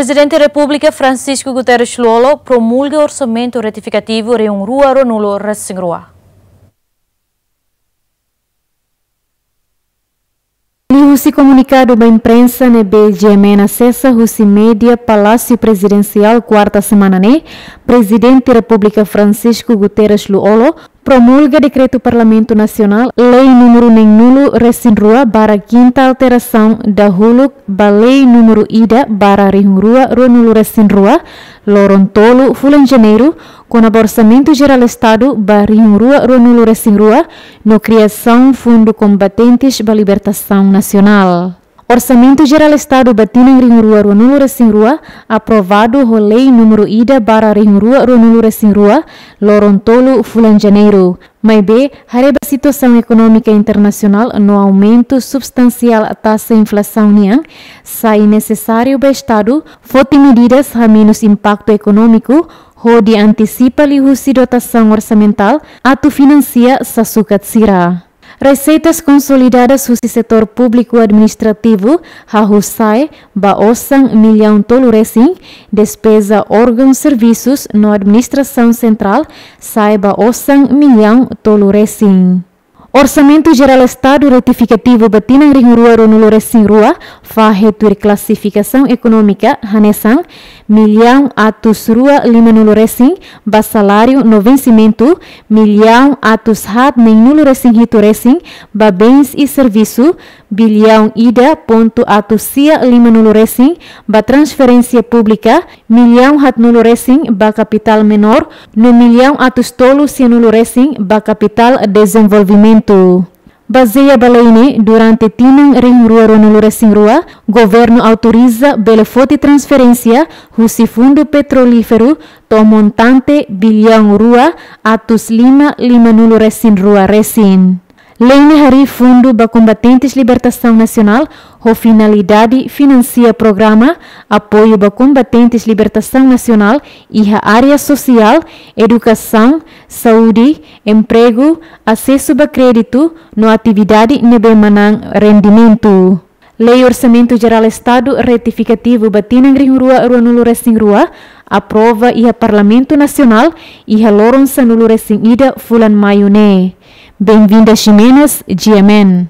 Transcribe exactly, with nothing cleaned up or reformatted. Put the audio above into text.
Prezidente Repúblika Francisco Guterres Lú-Olo promulga orsamentu retifikativu rihun rua ruanulu resin rua. Liuhusi komunikadu ba imprensa ne'ebé GMN asesa husi média Palásiu Prezidensiál kuarta semana ne'e, Prezidente Repúblika Francisco Guterres Lú-Olo promulga dekretu Parlamentu Nasionál, Lei númeru neenulu resin rua barra kinta alterasaun dahuluk ba Lei númeru ida barra rihun rua ruanulu resin rua, loron tolu fulan Janeiru, kona-ba Orsamentu Jerál Estadu ba rihun rua ruanulu resin rua, no kriasaun Fundu Kombatentes ba Libertasaun Nasionál. Orsamentu Jerál Estadu ba tinan rihun rua ruanulu resin rua aprovadu ho Lei númeru ida barra rihun rua ruanulu resin rua, loron tolu fulan Janeiru. Maibé, haree ba situasaun ekonómika internasionál no aumentu substansiál taxa inflasaun nian, sai nesesáriu ba Estadu foti medidas hamenus impaktu ekonómiku, hodi antisipa liuhusi dotasaun orsamentál atu finansia sasukat sira. Reseitas konsolidadas husi setór públiku administrativu hahú sa'e ba osan millaun tolu resin, despeza órgaun servisus no administrasaun sentrál sa'e ba osan millaun tolu resin. Orsamentu Jerál Estadu retifikativu ba tinan rihun rua ruanulu resin rua fahe tuir klasifikasaun ekonómika hanesan millaun atus rua limanulu resin ba saláriu no vensimentu, millaun atus haat neenulu resin hitu resin ba bens i servisu, billaun ida pontu atus sia limanulu resin ba transferénsia públika, millaun haatnulu resin ba kapitál menór, no millaun atus tolu sianulu resin ba kapitál dezenvolvimentu. Bazeia ba lei ne'e, durante tinan rihun rua ruanulu resin rua, governu autoriza bele foti transferénsia husi Fundu Petrolíferu to'o montante billaun rua atus lima limanulu resin rua resin. Lei ne'e harii fundu ba Kombatentes Libertasaun Nasionál ho finalidade finansia programa apoiu ba Kombatentes Libertasaun Nasionál iha área sosiál, edukasaun, saúde, empregu, asesu ba kréditu no atividade ne'ebé manán rendimentu. Lei Orsamentu Jerál Estadu retifikativu ba tinan rihun rua ruanulu resin rua aprova iha Parlamentu Nasionál iha loron sanulu resin ida fulan Maiu ne'e. Benvinda Ximenes, GMN.